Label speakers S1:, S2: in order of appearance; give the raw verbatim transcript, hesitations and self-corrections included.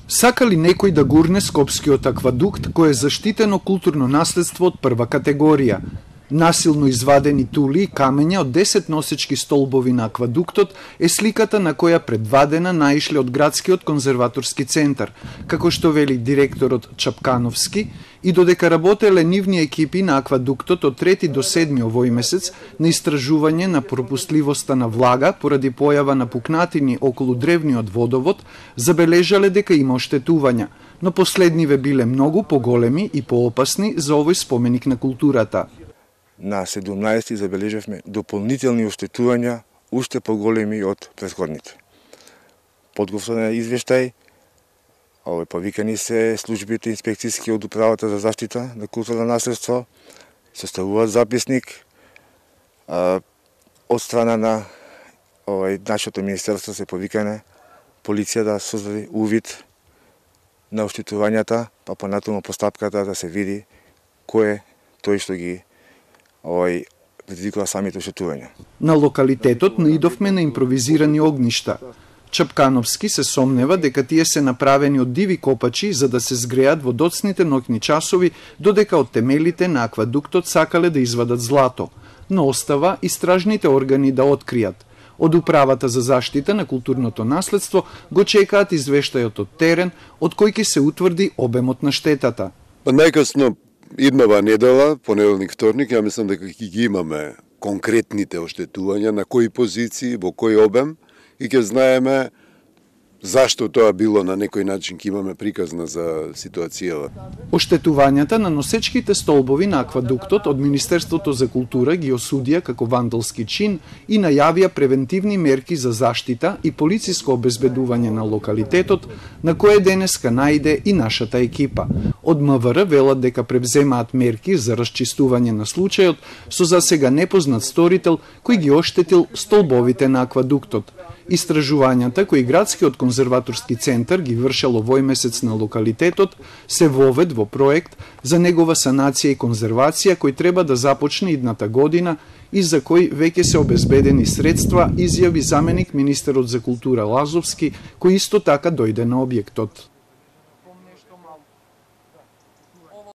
S1: Сака ли некој да гурне Скопскиот аквадукт, кој е заштитено културно наследство од прва категорија? Насилно извадени тули и камења од десет носечки столбови на аквадуктот е сликата на која предвадена наишле од градскиот конзерваторски центар, како што вели директорот Чапкановски, и додека работеле нивни екипи на аквадуктот од трети до седми овој месец на истражување на пропустливоста на влага поради појава на пукнатини околу древниот водовод, забележале дека има оштетувања, но последниве биле многу поголеми и поопасни за овој споменик на културата.
S2: На седумнаесети забележавме дополнителни оштетувања, уште поголеми од претходните. Подготвен е извештај, овој повикани се службите инспекцијски од управата за заштита на културно наследство, составуваат записник, а, од страна на овој нашето министерство се повикане полиција да создаде увид на оштетувањата, па понатаму постапката да се види кој е тој што ги овој предизвикува самите оштетувања.
S1: На локалитетот наидовме на импровизирани огништа. Чапкановски се сомнева дека тие се направени од диви копачи за да се згреат во доцните ноќни часови, додека од темелите на аквадуктот сакале да извадат злато, но остава истражните органи да откријат. Од управата за заштита на културното наследство го чекаат извештајот од терен, од кој ќе се утврди обемот на штетата.
S3: Па најкасно иднава недела, понеделник, вторник, ја мислам дека ќе ги имаме конкретните оштетувања, на кои позиции, во кој обем, и ќе знаеме зашто тоа било, на некој начин ќе имаме приказна за ситуацијава.
S1: Оштетувањата на носечките столбови на аквадуктот од Министерството за култура ги осудија како вандалски чин и најавија превентивни мерки за заштита и полициско обезбедување на локалитетот, на кое денеска најде и нашата екипа. Од МВР велат дека превземаат мерки за расчистување на случајот со засега непознат сторител кој ги оштетил столбовите на аквадуктот. Истражувањата кои градскиот конзерваторски центар ги вршел овој месец на локалитетот се вовед во проект за негова санација и конзервација кој треба да започне идната година и за кој веќе се обезбедени средства, изјави заменик министерот за култура Лазовски, кој исто така дојде на објектот.